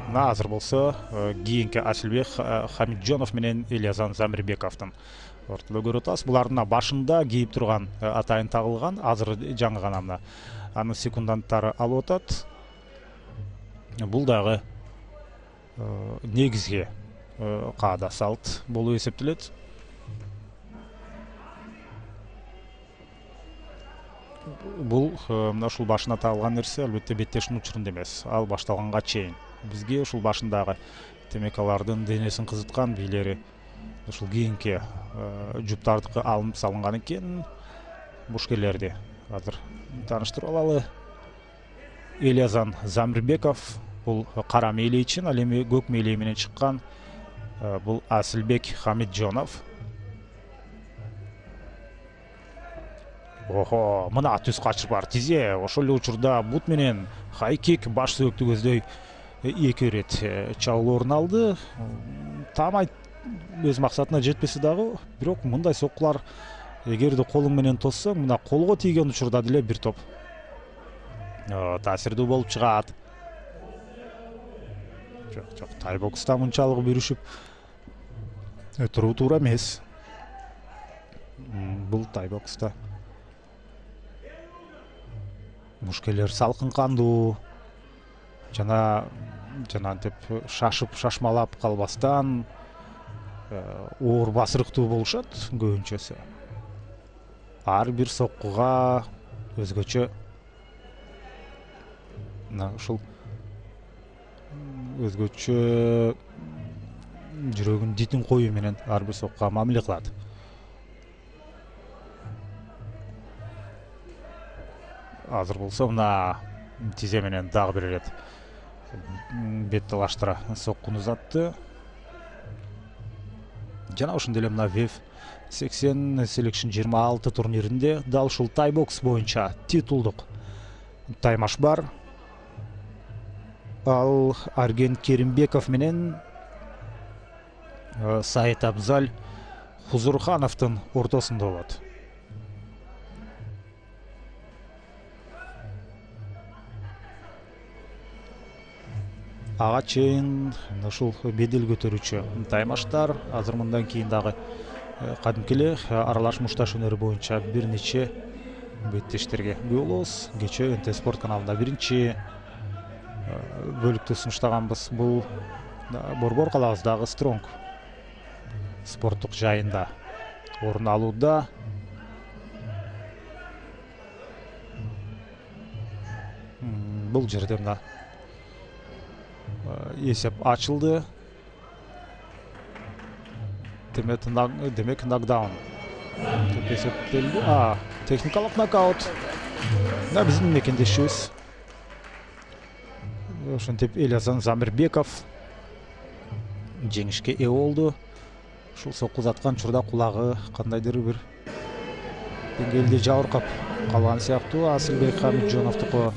Мына азыр болсо кийинки Асылбек Хамитжонов менен Элиазан Замирбековдун ортодо көрүп атабыз. Булардын башында кийип турган атайын тагылган, азыр жаңы гана мына анын секунданттары алып атат. Бул дагы негизги каада салт болуп эсептелет. Бул мына ушул башына тагылган нерсе албетте беттештин учурунда эмес, ал башталганга чейин. Бизге ушул башындагы демек алардын денесин кызыткан бийлери ушул кийинки жуптардыкы алынып салынган экен. Мушкелерди азыр тааныштырып алалы. Элиазан Замирбеков бул кара мээлейчин, ал эми көк мээлей менен чыккан бул Асылбек Хамитжонов. Охо, мына түз качып бар тизе ошол эле учурда бут менен хайкик баш сөөктү көздөй эки ирет чабуул орун алды. Таамай өз максатына жетпесе дагы, бирок мындай соккулар эгерде колуң менен тоссоң, мына колго тийген учурда деле бир топ таасирдүү болуп чыгат. Жок, тайбокста мынчалык бүрүшүп туруу туура эмес. Бул тайбокста мушкелер салкын кандуу жана антип шашып шашмалап калбастан оор басырыктуу болушат көбүнчөсү. Ар бир соккуга өзгөчө мына ушул өзгөчө жүрөгүн дитин коюу менен ар бир соккуга мамиле кылат. Азыр болсо мына тизе менен дагы бир ирет бет талаштыра соккуну узатты. Жана ошондой эле мына WEF 80 Selection 26 турниринде дал ушул тайбокс боюнча титулдук таймаш бар. Ал Арген Керимбеков менен Саид Абзал Хузурхановдун ортосунда болот. Ага чейин ушул бедел көтөрүүчү таймаштар азыр мындан кийин дагы кадимки эле аралаш мушташ өнөрү боюнча бир нече беттештерге күбө болобуз. Кечээ НТ Спорт каналында биринчи бөлүктү сунуштаганбыз. Бул Борбор калабыздагы Стронг спорттук жайында орун алууда. Бул жерде мына эсеп ачылды. Демек нокдаун деп эсептелди. Техникалык нокаут. Мына биздин мекендешибиз ошентип Элиазан Замирбеков жеңишке ээ болду. Ушул сокку узаткан учурда кулагы кандайдыр бир деңгээлде жабыркап калган сыяктуу Асылбек Хамитжоновдуку.